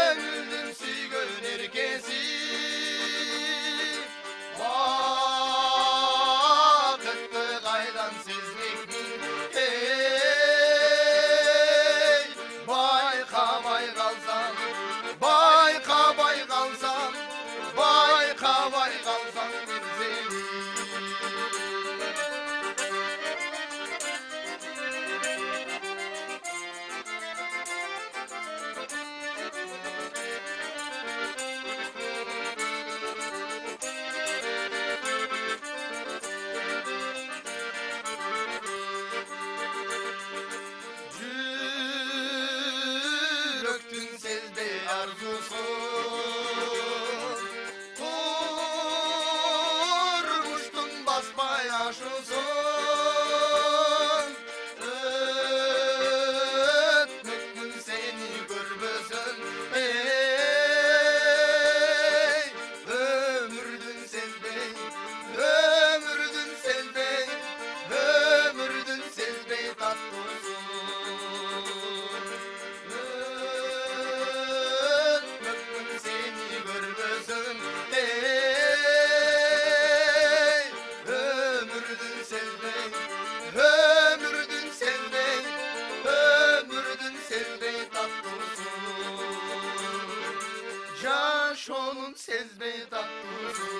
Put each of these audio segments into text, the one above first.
gönlüm suygun erkesi vakıttı kaydan sizlikmin baykamay kalsam baykamay kalsam baykamay kalsam bir seni yürektün sezdi arzusu kurmuştun basmay aşusun ötmektin seni görmesin ömürdün sezbey ömürdün sezbey ömürdün sezbey tatlısun ötmektin seni görmesin ömürdün sezbey ömürdün sezbey ömürdün sezbey tatlısun yaş onun sezbey tatlısun.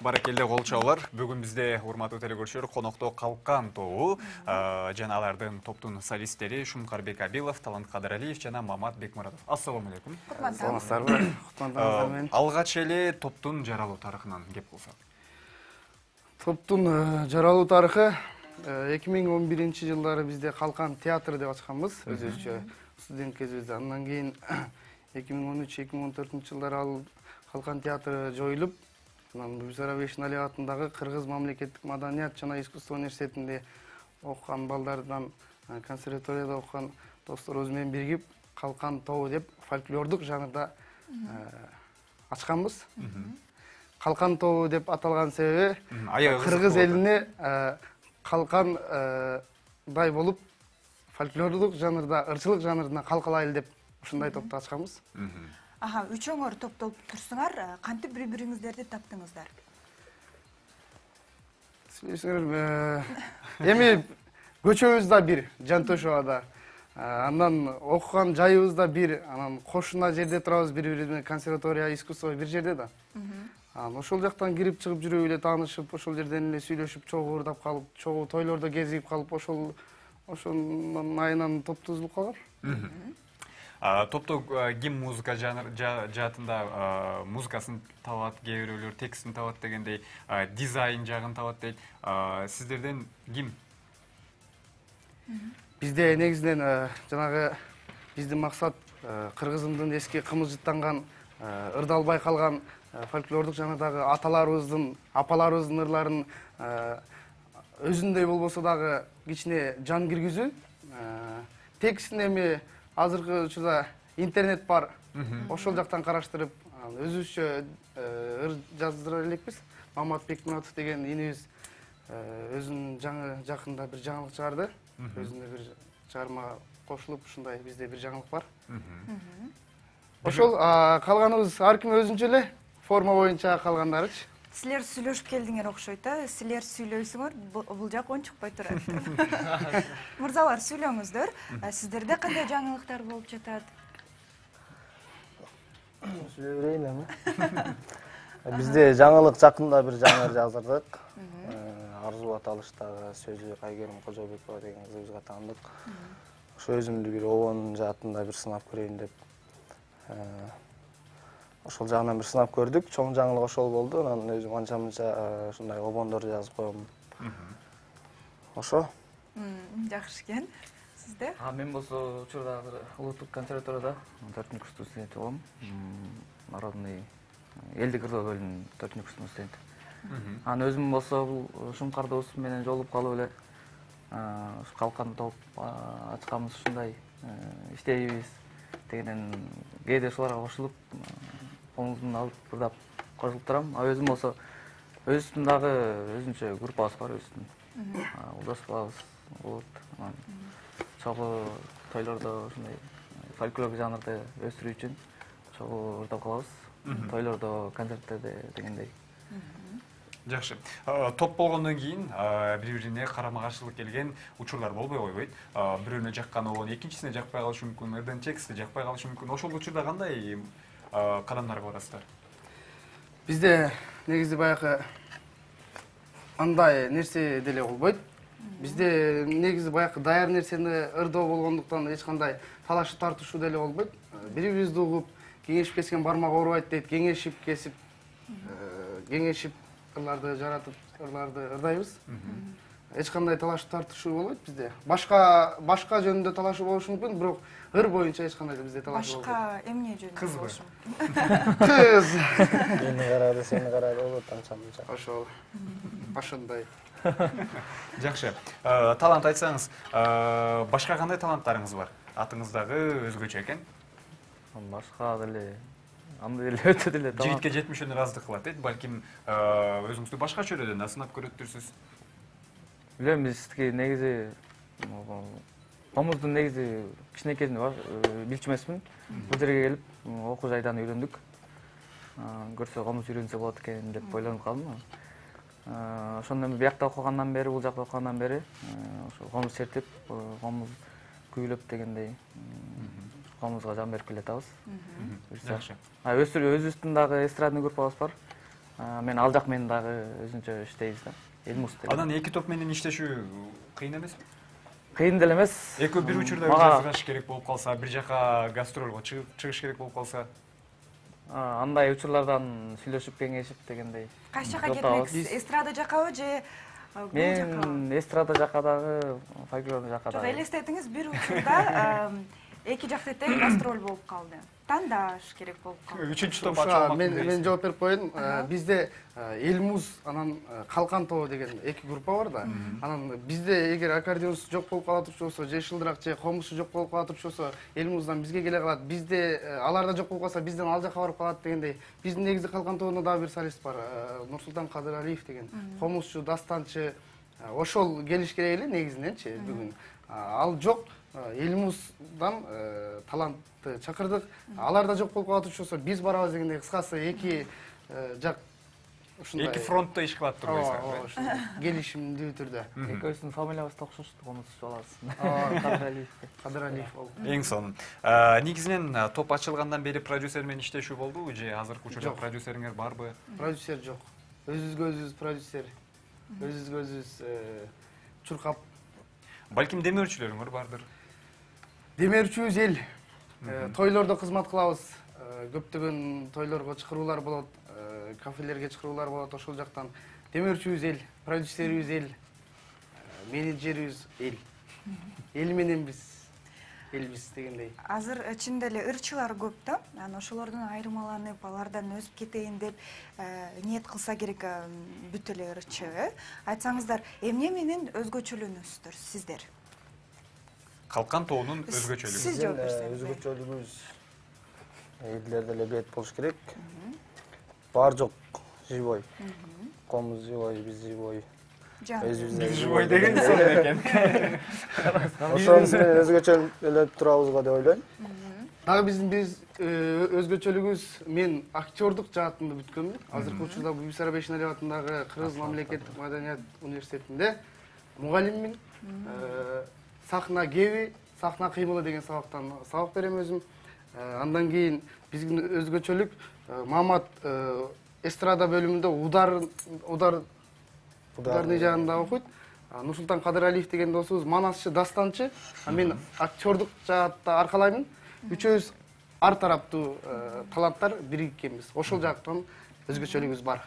Баракелде кол чабуулар. Бүгүн бизде урматтуу телекөрүүчүлөр конокто Калкан тобу жана алардын топтун солисттери Шумкарбек Абилов, Талант Кадыралиев жана Мамат Бекмуратов. Ассаламу алейкум. Саламатсыздарбы? Куттуктарыңыздар менен. Алгач эле топтун жаралуу тарыхынан кеп кылсак. Топтун жаралуу тарыхы 2011-жылдары бизде Калкан театры деп ачканбыз, өзүбүзчө студент кезибизде. Андан кийин 2013-2014-жылдары ал Калкан театры жоюлуп, анан Бибисара Абишин атындагы Кыргыз мамлекеттик маданият жана искусство университетинде окуган балдардан, консерваторияда окуган досторубуз менен биригип Калкан тобу деп фольклордук жанрда ачканбыз. Калкан тобу деп аталган себеби кыргыз элине калкандай болуп фольклордук жанрда, ырчылык жанрына калкалайлы деп ушундай топту ачканбыз. Аха, үчөөңөр топтолуп турсуңар, кантип бири-бириңиздерди таптыңыздар? Эми көчөбүз да бир, Жантөшөбө да. Андан окуган жайыбыз да бир, анан кошуна жерде турабыз бири-бирибизге, консерватория, искусство бир жерде да. Ошол жактан кирип чыгып жүрүп эле таанышып, ошол жерден эле сүйлөшүп, чогуу ырдап калып, чогуу тойлордо кезип калып, ошонун айынан топ тузулуп калган. Топту ким музыка жаатында музыкасын табат, кээ бирөөлөр текстин табат дегендей, дизайн жагын табат дейт. Сиздерден ким? Бизде негизинен жанагы биздин максат кыргызымдын эски кымылжыттанган, ырдалбай калган фольклордук жанрдагы аталарыбыздын, апаларыбыздын ырларын өзүндөй болбосо дагы кичине жан киргизүү. Текстин эми азыркы учурда интернет бар, ошол жактан караштырып, өзүбүзчө ыр жаздыра элекпиз. Мамат Бекмуратов деген инибиз өзүнүн жакында бир жаңылык чыгарды. Өзүнө бир чыгарма кошулуп, ушундай бизде бир жаңылык бар. Ошол калганыбыз ар ким өзүнчө эле форма боюнча калгандарычы. Силер сүйлөшүп келдиңер окшойт, силер сүйлөйсүңөр, бул жак ончукпай турат. Мырзалар, сүйлөңүздөр. Сиздерде кандай жаңылыктар болуп жатат? Сүйлөй берейин эми. Бизде жаңылык жакында бир жаңы жаздырдык. Арзу аталыштагы сөзү Айгерим Кожобекова деген кызыбызга таандык. Ошо өзүмдү бир обон жаатында бир сынап көрөйүн деп ошол жагынан бир сынап көрдүк. Чоң жаңылык ошол болду. Анан өзүм анча-мынча ушундай обондор жазып коем. Ошо. Жакшы экен. Сизде? Мен болсо учурда улуттук консерваторияда 4-курстук студент болом. Народный элдик ырдоо бөлүмүнүн 4-курстук студенти. Анан өзүм болсо бул Шумкар досум менен жолугуп калып эле Калкан топ ачканбыз, ушундай иштейбиз дегенден кээде ушуларга кошулуп колумуздан алып ырдап кошулуп турам. Өзүм болсо өзүбүздүн дагы өзүнчө группабыз бар өзүбүздүн. Улдаспабыз болот. Чогуу тойлордо ушундай фольклор жанрды өстүрүү үчүн чогуу ырдап калабыз. Тойлордо, концерттерде дегендей. Жакшы. Топ болгондон кийин бири-бирине карама-каршылык келген учурлар болбой койбойт. Бирөөнө жаккан оон экинчисине жакпай калышы мүмкүн, ырдын тексти жакпай калышы мүмкүн. Ошол учурда кандай кадамдарга барасыздар? Бизде негизи баягы андай нерсе деле болбойт. Бизде негизи баягы даяр нерсени ырдоо болгондуктан эч кандай талашып тартышуу деле болбойт. Бири-бирибизди угуп, кеңешип кескен бармак оорубайт дейт, кеңешип кесип, кеңешип ырларды жаратып, ырларды ырдайбыз. Эч кандай талашып тартышуу болбойт бизде. Башка жөнүндө талашуу болушу мүмкүн, бирок ыр боюнча эч кандай бизде талашуу болбойт. Башка эмне жөнүндө Кызбы? болушу Кыз. Мени карады, сени карады болот анча-мынча. Ошол. Ошондой. Жакшы. Талант айтсаңыз, башка кандай таланттарыңыз бар? Атыңыз дагы өзгөчө экен. Башка деле андай деле өтө деле талант. Жигитке жетмишөөнү ыраздык кылат дейт. Балким өзүңүздү башка чөйрөдөн да сынап көрөттүрсүз. Билем, бизге негизи комуздун негизи кичинекейден билчү эмесмин. Бул жерге келип окуу жайдан үйрөндүк. Көрсө комуз үйрөнсө болот экен деп ойлонуп калдым. Ошондон биякта окугандан бери, бул жакта окугандан бери ошо комуз чертип, комуз күүлөп дегендей комузга жан берип келатабыз. Жакшы. Өзүбүздүн дагы эстрадный группабыз бар. Мен ал жак менен дагы өзүнчө иштейбиз да. Элмус деп. Анан эки топ менен иштешүү кыйын эмеспи? Кыйын деле эмес. Экөө бир учурда жазгаш керек болуп калса, бир жака гастролго чыгыш керек болуп калса, андай учурлардан сүйлөшүп, кеңешип дегендей. Кайсы жака кетмексиз? Эстрада жакабы же бул жака? Мен эстрада жака дагы, фольклор жака Жок, дагы. элестетиңиз, бир учурда эки жакта тең гастроль болуп калды. Тандаш керек болуп калды. үчүнчү топ ачылмак. Мен жооп берип коеюн. Бизде Элмуз анан Калкан тобу деген эки группа бар да. Анан бизде эгер аккордеонсу жок болуп кала турчу болсо, же шылдырак, же комузсу жок болуп кала турчу болсо, Элмуздан бизге келе калат. Бизде аларда жок болуп калса, бизден ал жака барып калат дегендей. Биздин негизи Калкан тобунда дагы бир солист бар, Нурсултан Кадыралиев деген. Комузчу, дастанчы. Ошол келиш керек эле негизиненчи бүгүн. Ал жок. Элмуздан талантты чакырдык. Алар да жок болуп кала турчу болсо, биз барабыз дегендей. Кыскасы эки жак ушундай. Эки фронтто иш кылат турбайсыздар. Ошо келишимдүү түрдө. Экөөбүздүн фамилиябыз да окшош, комузчу алабыз. Кадыралиев болду. Эң сонун. Негизинен топ ачылгандан бери продюсер менен иштешүү болдубу же азыркы учурда продюсериңер барбы? Продюсер жок. Өзүбүзгө өзүбүз продюсер. Өзүбүзгө өзүбүз чуркап. Балким демөөрчүлөрүңөр бардыр. Демерчүбүз эл. Тойлордо кызмат кылабыз. Көптөгөн тойлорго чакыруулар болот, кафелерге чакыруулар болот. Ошол жактан демерчүбүз эл, продюсерибиз эл, менеджерибиз эл. Эл менен биз, элбиз дегендей. Азыр чын эле ырчылар көп да. Анан ошолордон айырмаланып, алардан өсүп кетейин деп ниет кылса керек бүт эле ырчы. Айтсаңыздар, эмне менен өзгөчөлөнөсүздөр сиздер? Калкан тобунун өзгөчөлүгү. Сиз жооп берсеңиз. Өзгөчөлүгүбүз элдерде эле бет болуш керек. Бар жок живой. Комуз живой, биз живой. Биз живой деген сонун экен. Ошонус менен өзгөчөлөнүп турабызга деп ойлойм. Дагы биз өзгөчөлүгүбүз, мен актёрдук жаатында бүткөнмүн. Азыркы учурда Бибисара Бейшеналиева атындагы Кыргыз мамлекеттик маданият университетинде мугалиммин. Сахна кеби, сахна кыймылы деген сабактан сабак берем өзүм. Андан кийин биздин өзгөчөлүк Мамат эстрада бөлүмүндө ударный жагында окуйт. Нурсултан Кадыралиев деген досубуз манасчы, дастанчы. Мен актёрдук жаатта аркалаймын. Үчөөбүз ар тараптуу таланттар бириккенбиз. Ошол жактан өзгөчөлүгүбүз бар.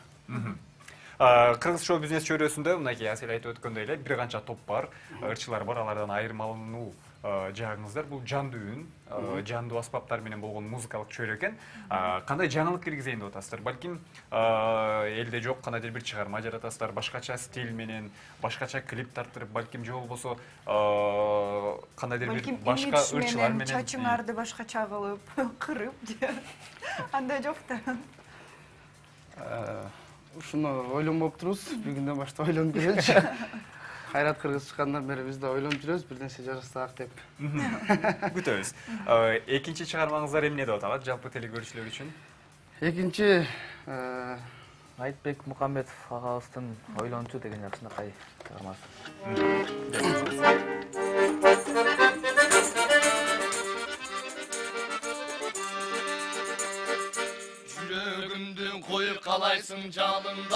Кыргыз шоу бизнес чөйрөсүндө мынакей Асель айтып өткөндөй эле бир канча топ бар, ырчылар бар, алардан айырмалануу жагыңыздар бул жандуу үн, жандуу аспаптар менен болгон музыкалык чөйрө экен. Кандай жаңылык киргизейин деп атасыздар? Балким элде жок кандайдыр бир чыгарма жаратасыздар, башкача стиль менен, башкача клип тарттырып, балким же болбосо кандайдыр бир башка ырчылар менен чачыңарды башкача кылып, кырып же андай жок да. ушуну ойлонбоп турубуз. Бүгүндөн баштап ойлонуп көрөлүчү. Кайрат кыргыз чыккандан бери биз да ойлонуп жүрөбүз, бир нерсе жасасак деп. Күтөбүз. Экинчи чыгармаңыздар эмне деп аталат жалпы телекөрүүчүлөр үчүн? Экинчи Айтбек Мукамбетов агабыздын Ойлончу деген жакшынакай чыгармасы. Жүрөгүмдү коюп калайсың жалындай,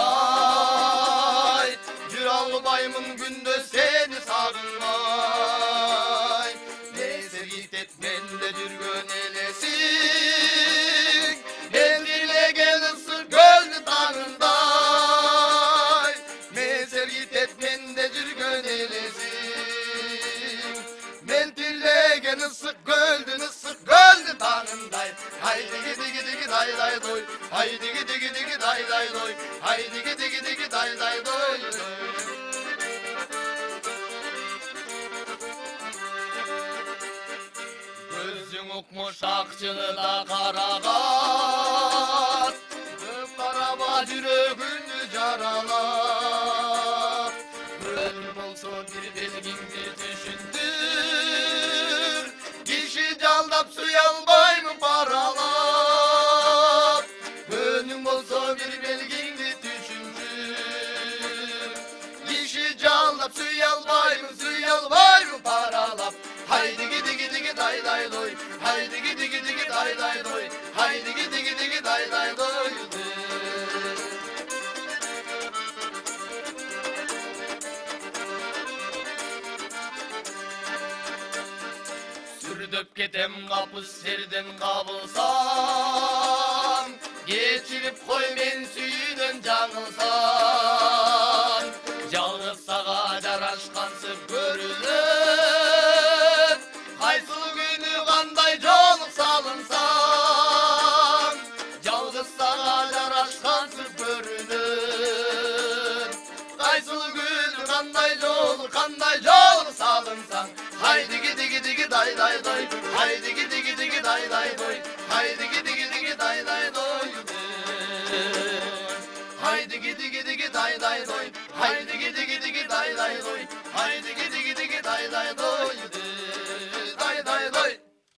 жүрө албаймын күндө сени сагынбай. Несер кетет менде жүргөн элесиң, мен тилеген ысык көлдү таңындай. Несер кетет менде жүргөн элесиң, мен тилеген ысык көлдү таңындай. Haydi gidi gidi gidi day day doy. Haydi gidi gidi gidi day day doy. Haydi gidi gidi gidi day day doy. Gözün okmuş akçını da karagat. Öp karama yüreğini caralat. Ölüm olsun bir belgindi düşündür. Kişi caldap suya almayım paralap. Önüm olsa bir belgindi düşündür. Kişi caldap suya almayım paralap. Haydi gidi gidi gidi day day doy. Haydi gidi gidi gidi day day doy. Haydi gidi gidi gidi day day doy. Sürdüp ketem kapı serden kabılsam, geçirip koy men suyunun жаңылсам. Жалгыз сага жарашкансып көрүнөп, кайсыл күнү кандай жолук салынсам. Жалгыз сага жарашкансып көрүнөп, кайсыл күнү кандай жолук салынсам. Haydi gidi gidi gidi day day doy. Haydi gidi gidi gidi day day doy. Haydi gidi gidi gidi day day doy. Haydi gidi gidi gidi day day doy. Haydi gidi gidi gidi day day doy. Haydi gidi gidi gidi day day doy.